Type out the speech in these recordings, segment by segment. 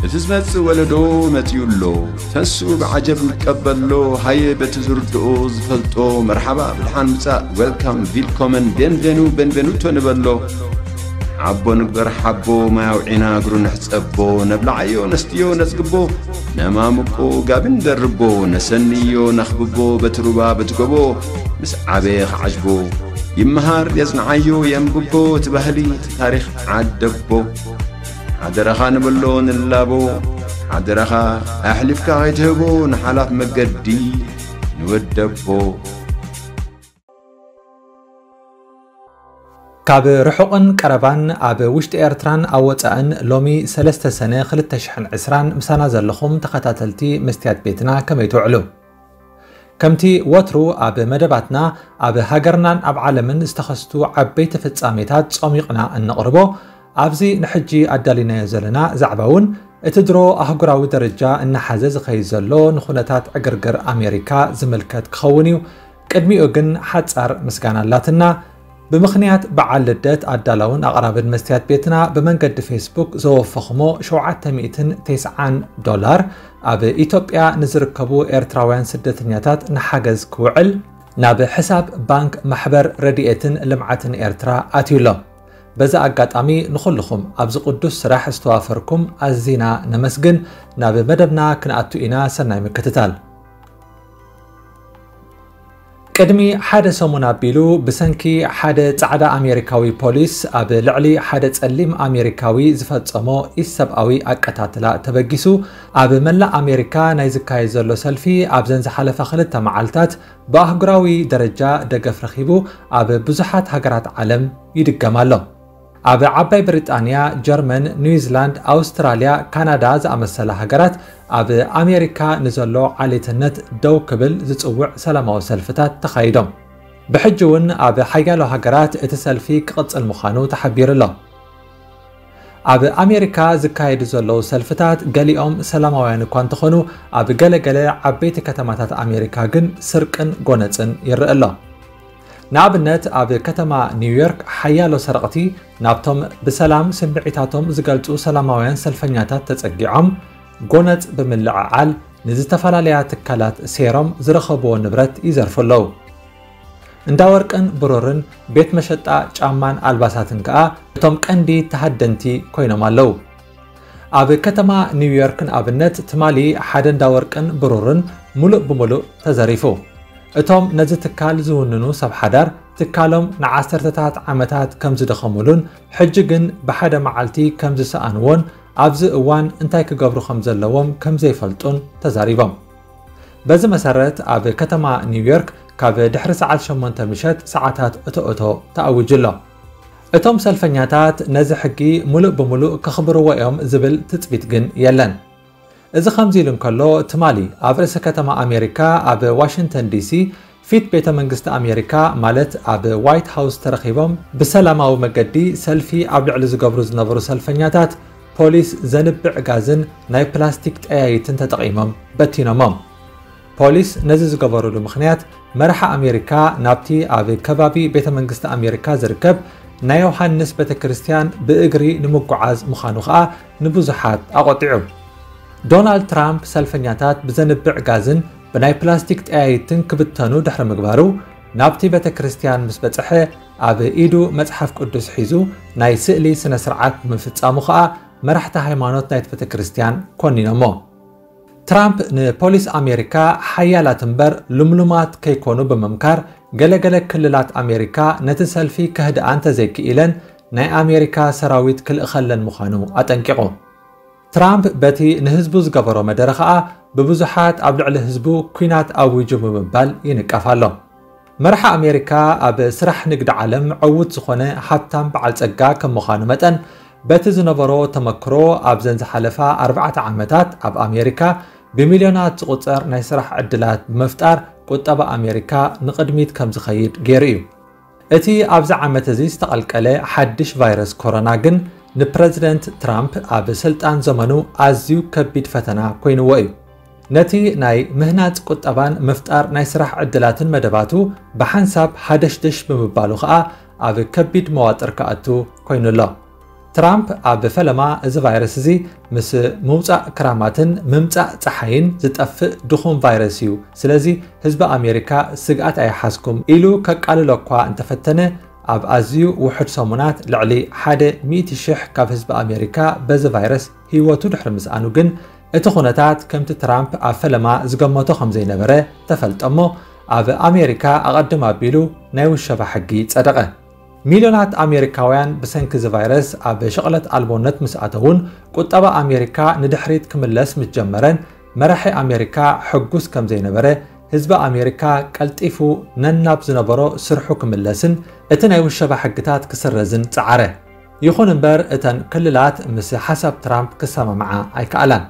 እቲ ዝመጽእ ወለዶ መጺኡ ኣሎ። ተንስኡ ብዓጀብ ንቀበሎ። ሃየ በቲ ዝርድኦ ዝፈልጦ መርሓባ ብድሓን ምጻእ፣ ዌልካም፣ ቪልኮመን፣ ቤንቬኑ፣ ቤንቬኑቶ ንበሎ። ሓቦ ንግበር ሓቦ፣ ማይ ኣውዒና እግሩ ንሕጸቦ። ነብልዓዮ ነስትዮ ነጽግቦ፣ ነማምቆ ጋቢ ንደርቦ። ነሰንዮ ነኽብቦ በቲ ሩባ በቲ ጎቦ። ምስ ዓበየ ክዓጅቦ፣ ይመሃር የጽንዓዮ የንብቦ። እቲ ባህሊ እቲ ታሪኽ ዓደቦ። ሓደራኻ ንበሎ ንላቦ፣ ሓደራኻ ኣሕሊፍካ ከይትህቦ ንሓላፍ መገዲ ንወደቦ። ካብ ርሑቕን ቀረባን ኣብ ውሽጢ ኤርትራን ኣብ ወጻእን ሎሚ ሰለስተ ሰነ ክልተ ሽሕን ዕስራን ምሳና ዘለኹም ተኸታተልቲ መስትያት ቤትና ከመይ ትውዕሉ? ከምቲ ወትሩ ኣብ መደባትና ኣብ ሃገርናን ኣብ ዓለምን ዝተኸስቱ ዓበይቲ ፍጻሜታት ጾሚቕና እነቕርቦ፣ ኣብዚ ንሕጂ ኣዳሊናዮ ዘለና ዛዕባ እውን እቲ ድሮ ኣህጉራዊ ደረጃ እናሓዘ ዝኸይድ ዘሎ ንኹነታት ዕግርግር ኣሜሪካ ዝምልከት ክኸውን እዩ። ቅድሚኡ ግን ሓጻር ምስጋና ኣላትና። ብምኽንያት በዓል ልደት ኣዳላውን ኣቕራብን መስትያት ቤትና ብመንገዲ ፌስቡክ ዘወፈኹሞ ሸውዓተ ሚእትን ተስዓን ዶላር ኣብ ኢትዮጵያ ንዝርከቡ ኤርትራውያን ስደተኛታት ንሓገዝ ክውዕል ናብ ሕሳብ ባንክ ማሕበር ረድኤትን ልምዓትን ኤርትራ ኣትዩ ኣሎ። በዚ ኣጋጣሚ ንኹልኹም ኣብዚ ቅዱስ ስራሕ ዝተዋፈርኩም ኣዚና ነመስግን። ናብ መደብና ክንኣቱ ኢና። ሰናይ ምክትታል። ቅድሚ ሓደ ሰሙን ኣቢሉ ብሰንኪ ሓደ ጻዕዳ ኣሜሪካዊ ፖሊስ ኣብ ልዕሊ ሓደ ጸሊም ኣሜሪካዊ ዝፈጸሞ ኢሰብኣዊ ኣቀታትላ ተበጊሱ ኣብ መላእ ኣሜሪካ ናይ ዝካየድ ዘሎ ሰልፊ ኣብዘን ዝሓለፋ ክልተ መዓልታት ብኣህጉራዊ ደረጃ ደገፍ ረኺቡ ኣብ ብዙሓት ሃገራት ዓለም ይድገም ኣሎ። ኣብ ዓባይ ብሪጣንያ፣ ጀርመን፣ ኒውዚላንድ፣ ኣውስትራልያ፣ ካናዳ ዝኣመሰላ ሃገራት ኣብ ኣሜሪካ ንዘሎ ዓሌትነት ደው ክብል ዝጽውዕ ሰላማዊ ሰልፍታት ተኻይዶም። ብሕጂ እውን ኣብ ሓያሎ ሃገራት እቲ ሰልፊ ክቕጽል ምዃኑ ተሓቢሩ ኣሎ። ኣብ ኣሜሪካ ዝካየዱ ዘለዉ ሰልፍታት ገሊኦም ሰላማውያን እኳ እንተኾኑ፣ ኣብ ገለገለ ዓበይቲ ከተማታት ኣሜሪካ ግን ስርቅን ጎነጽን ይረአ ኣሎ። ንኣብነት ኣብ ከተማ ኒውዮርክ ሓያሎ ሰረቕቲ ናብቶም ብሰላም ስምዒታቶም ዝገልጹ ሰላማውያን ሰልፈኛታት ተጸጊዖም ጎነጽ ብምልዕዓል ንዝተፈላለያ ትካላት ሴሮም ዝረኸብዎ ንብረት ይዘርፉ ኣለዉ። እንዳ ወርቅን ብሩርን ቤት መሸጣ ጫማን ኣልባሳትን ከኣ እቶም ቀንዲ ተሃደንቲ ኮይኖም ኣለዉ። ኣብ ከተማ ኒውዮርክ ንኣብነት ትማሊ ሓደ እንዳ ወርቅን ብሩርን ሙሉእ ብሙሉእ ተዘሪፉ። እቶም ነዚ ትካል ዝውንኑ ሰብ ሓዳር ትካሎም ንዓሰርተታት ዓመታት ከም ዝደኸሙሉን ሕጂ ግን ብሓደ መዓልቲ ከም ዝሰኣንዎን ኣብዚ እዋን እንታይ ክገብሩ ከም ዘለዎም ከም ዘይፈልጡን ተዛሪቦም። በዚ መሰረት ኣብ ከተማ ኒውዮርክ ካብ ድሕሪ ሰዓት ሸሞንተ ምሸት ሰዓታት እቶ እቶ ተኣዊጁ ኣሎ። እቶም ሰልፈኛታት ነዚ ሕጊ ሙሉእ ብሙሉእ ከኽብርዎ እዮም ዝብል ትጽቢት ግን የለን። እዚ ከምዚ ኢሉ እንከሎ፣ ትማሊ ኣብ ርእሲ ከተማ ኣሜሪካ ኣብ ዋሽንግተን ዲሲ ፊት ቤተ መንግስቲ ኣሜሪካ ማለት ኣብ ዋይት ሃውስ ተረኺቦም ብሰላማዊ መገዲ ሰልፊ ኣብ ልዕሊ ዝገብሩ ዝነበሩ ሰልፈኛታት ፖሊስ ዘንብዕ ጋዝን ናይ ፕላስቲክ ጠያይትን ተጠቒሞም በቲኖሞም። ፖሊስ ነዚ ዝገበሩሉ ምኽንያት መራሒ ኣሜሪካ ናብቲ ኣብ ከባቢ ቤተ መንግስቲ ኣሜሪካ ዝርከብ ናይ ዮሃንስ ቤተ ክርስቲያን ብእግሪ ንምጉዓዝ ምዃኑ ኸኣ ንብዙሓት ኣቖጢዑ። ዶናልድ ትራምፕ ሰልፈኛታት ብዘንብዕ ጋዝን ብናይ ፕላስቲክ ጠያይትን ክብተኑ ድሕሪ ምግባሩ ናብቲ ቤተ ክርስቲያን ምስ በጽሐ ኣብ ኢዱ መጽሓፍ ቅዱስ ሒዙ ናይ ስእሊ ስነ ስርዓት ብምፍጻሙ ኸኣ መራሕቲ ሃይማኖት ናይቲ ቤተ ክርስቲያን ኮኒኖሞ። ትራምፕ ንፖሊስ ኣሜሪካ ሓያላት እምበር ልምሉማት ከይኮኑ ብምምካር፣ ገለገለ ክልላት ኣሜሪካ ነቲ ሰልፊ ከህድኣ እንተዘይክኢለን ናይ ኣሜሪካ ሰራዊት ክልእኸለን ምዃኑ ኣጠንቂቑ። ትራምፕ በቲ ንህዝቡ ዝገበሮ መደረ ኸኣ ብብዙሓት ኣብ ልዕሊ ህዝቡ ኲናት ኣዊጁ ብምባል ይንቀፍ ኣሎ። መራሒ ኣሜሪካ ኣብ ስራሕ ንግዲ ዓለም ዕዉት ዝኾነ ሃብታም በዓል ጸጋ ከም ምዃኑ መጠን፣ በቲ ዝነበሮ ተመክሮ ኣብዘን ዝሓለፋ ኣርባዕተ ዓመታት ኣብ ኣሜሪካ ብሚልዮናት ዝቑጸር ናይ ስራሕ ዕድላት ብምፍጣር ቁጠባ ኣሜሪካ ንቕድሚት ከም ዝኸይድ ገይሩ እዩ። እቲ ኣብዚ ዓመት እዚ ዝተቐልቀለ ሓድሽ ቫይረስ ኮሮና ግን ንፕረዚደንት ትራምፕ ኣብ ስልጣን ዘመኑ ኣዝዩ ከቢድ ፈተና ኮይንዎ እዩ። ነቲ ናይ ምህናጽ ቁጠባን ምፍጣር ናይ ስራሕ ዕድላትን መደባቱ ብሓንሳብ ሃደሽደሽ ብምባሉ ኸኣ ኣብ ከቢድ መዋጥር ክኣቱ ኮይኑ ኣሎ። ትራምፕ ኣብ ፈለማ፣ እዚ ቫይረስ እዚ ምስ ምውጻእ ክራማትን ምምጻእ ጸሓይን ዝጠፍእ ድኹም ቫይረስ እዩ፣ ስለዚ ህዝቢ ኣሜሪካ ስግኣት ኣይሓዝኩም ኢሉ ከቃልሎ እኳ እንተፈተነ፣ ኣብ ኣዝዩ ውሑድ ሰሙናት ልዕሊ ሓደ ሚእቲ ሽሕ ካብ ህዝቢ ኣሜሪካ በዚ ቫይረስ ህይወቱ ድሕሪ ምስኣኑ ግን፣ እቲ ኩነታት ከምቲ ትራምፕ ኣብ ፈለማ ዝገመቶ ከም ዘይነበረ ተፈልጠ እሞ፣ ኣብ ኣሜሪካ ኣቐድም ኣቢሉ ናይ ውሸባ ሕጊ ጸደቐ። ሚልዮናት ኣሜሪካውያን ብሰንኪ እዚ ቫይረስ ኣብ ሽቕለት ኣልቦነት ምስ ኣተዉን፣ ቁጠባ ኣሜሪካ ንድሕሪት ክምለስ ምስ ጀመረን፣ መራሒ ኣሜሪካ ሕጉስ ከም ዘይነበረ፣ ህዝቢ ኣሜሪካ ቀልጢፉ ነናብ ዝነበሮ ስርሑ ክምለስን እቲ ናይ ውሸባ ሕግታት ክስረዝን ጸዓረ። ይኹን እምበር፣ እተን ክልላት ምስ ሓሳብ ትራምፕ ክሰማምዓ ኣይከኣላን።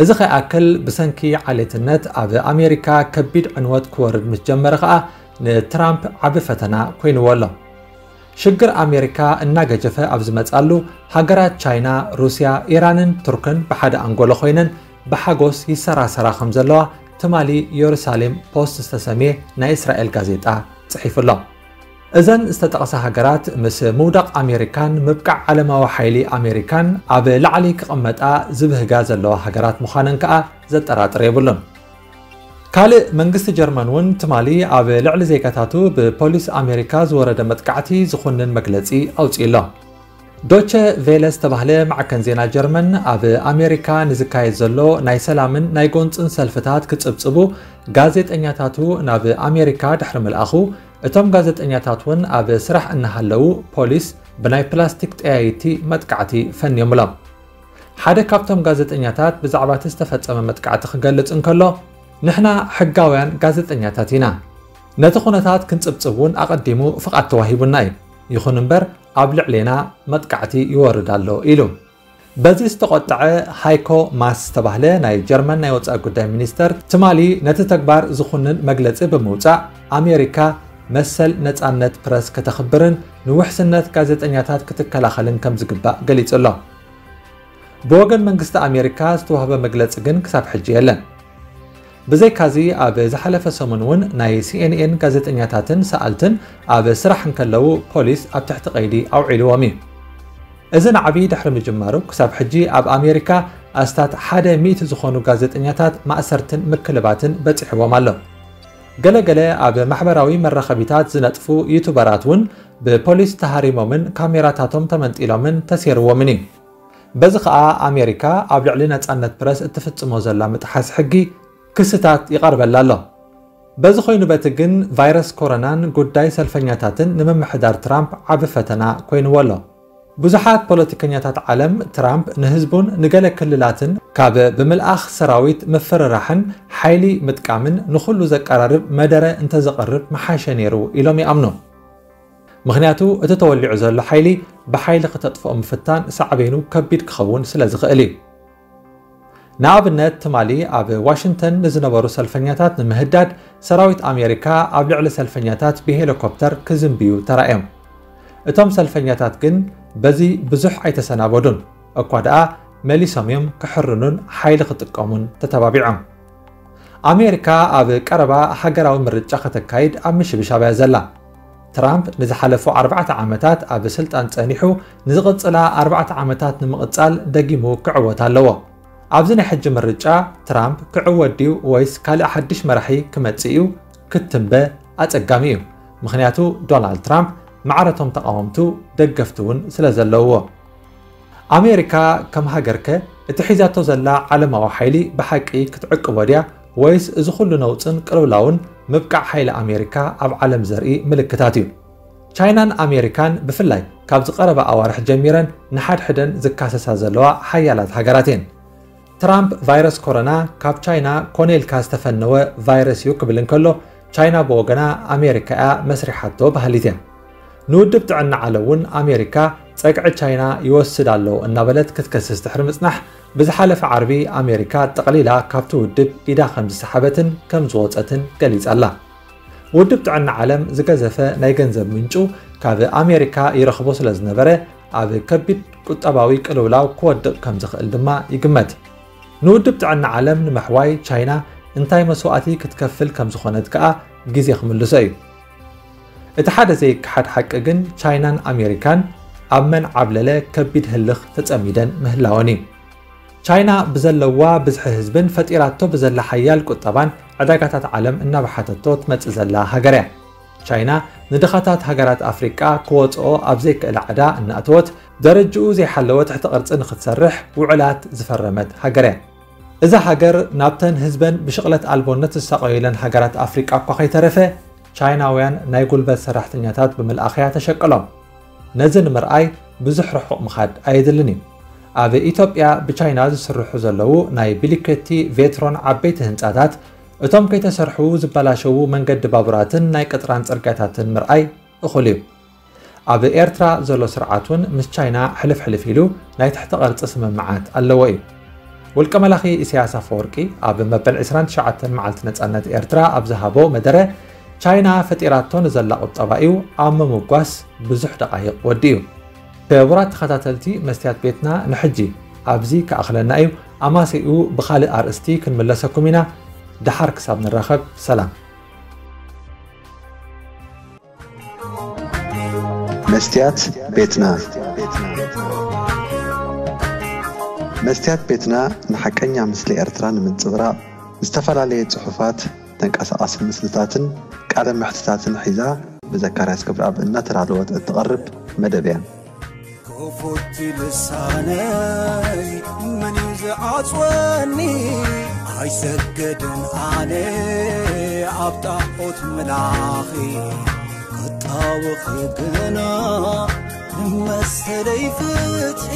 እዚ ከይኣክል፣ ብሰንኪ ዓሌትነት ኣብ ኣሜሪካ ከቢድ ዕንወት ክወርድ ምስ ጀመረ ከኣ፣ ንትራምፕ ዓቢ ፈተና ኮይንዎ ኣሎ። ሽግር ኣሜሪካ እናገጀፈ ኣብ ዝመጻሉ፣ ሃገራት ቻይና፣ ሩስያ፣ ኢራንን ቱርክን ብሓደ ኣንጎሎ ኮይነን ብሓጎስ ይሰራሰራ ከም ዘለዋ ትማሊ የሩሳሌም ፖስት ዝተሰምየ ናይ እስራኤል ጋዜጣ ጽሒፉ ኣሎ። እዘን ዝተጠቕሳ ሃገራት ምስ ምውዳቕ ኣሜሪካን ምብቃዕ ዓለማዊ ሓይሊ ኣሜሪካን ኣብ ላዕሊ ክቕመጣ ዝብህጋ ዘለዋ ሃገራት ምዃነን ከኣ ዘጠራጥር የብሉን። ካልእ መንግስቲ ጀርመን እውን ትማሊ ኣብ ልዕሊ ዜጋታቱ ብፖሊስ ኣሜሪካ ዝወረደ መጥቃዕቲ ዝኹንን መግለጺ ኣውጺኡ ኣሎ። ዶቸ ቬለ ዝተባህለ ማዕከን ዜና ጀርመን ኣብ ኣሜሪካ ንዝካየድ ዘሎ ናይ ሰላምን ናይ ጎንጽን ሰልፍታት ክጽብጽቡ ጋዜጠኛታቱ ናብ ኣሜሪካ ድሕሪ ምልኣኹ፣ እቶም ጋዜጠኛታት እውን ኣብ ስራሕ እናሃለዉ ፖሊስ ብናይ ፕላስቲክ ጠያይቲ መጥቃዕቲ ፈንዮምሎም። ሓደ ካብቶም ጋዜጠኛታት ብዛዕባ እቲ ዝተፈጸመ መጥቃዕቲ ክገልጽ እንከሎ፣ "ንሕና ሕጋውያን ጋዜጠኛታት ኢና። ነቲ ኩነታት ክንጽብጽብ እውን ኣቐዲሙ ፍቓድ ተዋሂቡና እዩ። ይኹን እምበር ኣብ ልዕሌና መጥቃዕቲ ይወርድ ኣሎ" ኢሉ። በዚ ዝተቖጠዐ ሃይኮ ማስ ዝተባህለ ናይ ጀርመን ናይ ወጻኢ ጉዳይ ሚኒስተር ትማሊ ነቲ ተግባር ዝኹንን መግለጺ ብምውጻእ፣ ኣሜሪካ መሰል ነጻነት ፕረስ ከተኽብርን ንውሕስነት ጋዜጠኛታት ክትከላኸልን ከም ዝግባእ ገሊጹ ኣሎ። ብወገን መንግስቲ ኣሜሪካ ዝተዋህበ መግለጺ ግን ክሳብ ሕጂ የለን። ብዘይካዚ፣ ኣብ ዝሓለፈ ሰሙን እውን ናይ ሲ ኤን ኤን ጋዜጠኛታትን ሰኣልትን ኣብ ስራሕ እንከለዉ ፖሊስ ኣብ ትሕቲ ቀይዲ ኣውዒልዎም እዩ። እዚ ናዕቢ ድሕሪ ምጅማሩ፣ ክሳብ ሕጂ ኣብ ኣሜሪካ ኣስታት ሓደ ሚእቲ ዝኾኑ ጋዜጠኛታት ማእሰርትን ምክልባትን በጺሕዎም ኣሎ። ገለገለ ኣብ ማሕበራዊ መራኸቢታት ዝነጥፉ ዩቱበራት እውን ብፖሊስ ተሃሪሞምን ካሜራታቶም ተመንጢሎምን ተሴርዎምን እዩ። በዚ ኸኣ ኣሜሪካ ኣብ ልዕሊ ነጻነት ፕረስ እትፍጽሞ ዘላ ምጥሓስ ሕጊ ክስታት ይቐርበላ ኣሎ። በዚ ኮይኑ በቲ ግን፣ ቫይረስ ኮሮናን ጉዳይ ሰልፈኛታትን ንምምሕዳር ትራምፕ ዓቢ ፈተና ኮይንዎ ኣሎ። ብዙሓት ፖለቲከኛታት ዓለም፣ ትራምፕ ንህዝቡን ንገለ ክልላትን ካብ ብምልኣኽ ሰራዊት ምፍርራሕን ሓይሊ ምጥቃምን ንኹሉ ዘቀራርብ መደረ እንተዘቕርብ ምሓሸ ነይሩ ኢሎም ይኣምኑ። ምኽንያቱ፣ እቲ ተወሊዑ ዘሎ ሓይሊ ብሓይሊ ክተጥፍኦ ምፍታን ሳዕቤኑ ከቢድ ክኸውን ስለ ዝኽእል እዩ። ንኣብነት፣ ትማሊ ኣብ ዋሽንግተን ንዝነበሩ ሰልፈኛታት ንምህዳድ፣ ሰራዊት ኣሜሪካ ኣብ ልዕሊ ሰልፈኛታት ብሄሊኮፕተር ክዝንብዩ ተራእዮም። እቶም ሰልፈኛታት ግን በዚ ብዙሕ ኣይተሰናበዱን፣ እኳ ደኣ መሊሶም እዮም ክሕርኑን ሓይሊ ክጥቀሙን ተተባቢዖም። ኣሜሪካ ኣብ ቀረባ ሃገራዊ ምርጫ ከተካይድ ኣብ ምሽብሻብ እያ ዘላ። ትራምፕ ንዝሓለፉ ኣርባዕተ ዓመታት ኣብ ስልጣን ጸኒሑ፣ ንዝቕጽላ ኣርባዕተ ዓመታት ንምቕጻል ደጊሙ ክዕወት ኣለዎ። ኣብዚ ናይ ሕጂ ምርጫ፣ ትራምፕ ክዕወት ድዩ ወይስ ካልእ ሓድሽ መራሒ ክመጽእ እዩ ክትንበ ኣጸጋሚ እዩ። ምኽንያቱ፣ ዶናልድ ትራምፕ ማዕረቶም ተቓወምቱ ደገፍቲ እውን ስለ ዘለውዎ። ኣሜሪካ ከም ሃገርከ፣ እቲ ሒዛቶ ዘላ ዓለማዊ ሓይሊ ብሓቂ ክትዕቅቦ ድያ ወይስ እዚ ኩሉ ነውጽን ቅልውላውን ምብቃዕ ሓይሊ ኣሜሪካ ኣብ ዓለም ዘርኢ ምልክታት እዩ? ቻይናን ኣሜሪካን ብፍላይ ካብዚ ቀረባ ኣዋርሕ ጀሚረን ንሓድሕደን ዝካሰሳ ዘለዋ ሓያላት ሃገራት እየን። ትራምፕ ቫይረስ ኮሮና ካብ ቻይና ኮነ ኢልካ ዝተፈነወ ቫይረስ እዩ ክብል እንከሎ፣ ቻይና ብወገና ኣሜሪካ እያ መስሪሓቶ በሃሊት እያ። ንውድብ ጥዕና ዓለም እውን ኣሜሪካ ጸግዒ ቻይና ይወስድ ኣሎ እናበለት ክትከስስ ድሕሪ ምጽናሕ፣ ብዝሓለፈ ዓርቢ ኣሜሪካ ጠቕሊላ ካብቲ ውድብ ኢዳ ከም ዝሰሓበትን ከም ዝወጸትን ገሊጻ ኣላ። ውድብ ጥዕና ዓለም ዝገዘፈ ናይ ገንዘብ ምንጩ ካብ ኣሜሪካ ይረኽቦ ስለ ዝነበረ፣ ኣብ ከቢድ ቁጠባዊ ቅልውላው ክወድቕ ከም ዝኽእል ድማ ይግመት። ንውድብ ጥዕና ዓለም ንምሕዋይ ቻይና እንታይ መስዋእቲ ክትከፍል ከም ዝኾነት ከኣ ግዜ ክምልሶ እዩ። እቲ ሓደ ዘይከሓድ ሓቂ ግን፣ ቻይናን ኣሜሪካን ኣብ መን ዓብለለ ከቢድ ህልኽ ተጸሚደን ምህላወን እዩ። ቻይና ብዘለዋ ብዝሒ ህዝብን ፈጢራቶ ብዘላ ሓያል ቁጠባን ዕዳጋታት ዓለም እናበሓተቶ ትመጽእ ዘላ ሃገር እያ። ቻይና ንድኻታት ሃገራት ኣፍሪቃ ክወጽኦ ኣብ ዘይክእላ ዕዳ እናእተወት ደረጅኡ ዘይሓለወ ትሕቲ ቅርጺ ንክትሰርሕ ውዕላት ዝፈረመት ሃገር እያ። እዛ ሃገር ናብተን ህዝበን ብሽቕለት ኣልቦነት ዝሳቐዩለን ሃገራት ኣፍሪቃ እኳ ከይተረፈ ቻይናውያን ናይ ጉልበት ሰራሕተኛታት ብምልኣኽያ ተሸቀሎም። ነዚ ንምርኣይ ብዙሕ ርሑቕ ምኻድ ኣየድልን እዩ። ኣብ ኢትዮጵያ ብቻይና ዝስርሑ ዘለዉ ናይ ብሊከቲ ቬትሮን ዓበይቲ ህንጻታት እቶም ከይተሰርሑ ዝበላሸዉ መንገዲ ባቡራትን ናይ ቅጥራን ጽርግያታትን ምርኣይ እኹል እዩ። ኣብ ኤርትራ ዘሎ ስርዓት እውን ምስ ቻይና ሕልፍ ሕልፍ ኢሉ ናይ ትሕቲ ቅርጺ ስምምዓት ኣለዎ እዩ። ውልቀ መላኺ ኢሳያስ ኣፈወርቂ ኣብ መበል ዕስራን ትሽዓተን መዓልቲ ነጻነት ኤርትራ ኣብ ዝሃቦ መደረ ቻይና ፈጢራቶ ንዘላ ቁጠባ እዩ ኣብ ምምጓስ ብዙሕ ደቃይቕ ወዲኡ። ክቡራት ተኸታተልቲ መስትያት ቤትና ንሕጂ ኣብዚ ክኣኽለና እዩ። ኣማሲኡ ብኻልእ ኣርእስቲ ክንምለሰኩም ኢና። ደሓር ክሳብ ንራኸብ ሰላም። መስትያት ቤትና መስትያት ቤትና ንሓቀኛ ምስሊ ኤርትራ ንምንጽብራቕ ዝተፈላለየ ጽሑፋት፣ ተንቀሳቓሲ ምስልታትን ቃለ መሕትታትን ሒዛ ብዘካርያስ ገብረኣብ እናተዳለወት እትቐርብ መደብ እያ። ክፉት ልሳነይ መን እዩ ዝዓጽወኒ? ኣይሰገድን ኣነ ኣብ ጣዖት ምላኺ ክጣወኺ ግና ንመሰለይ ፍትሒ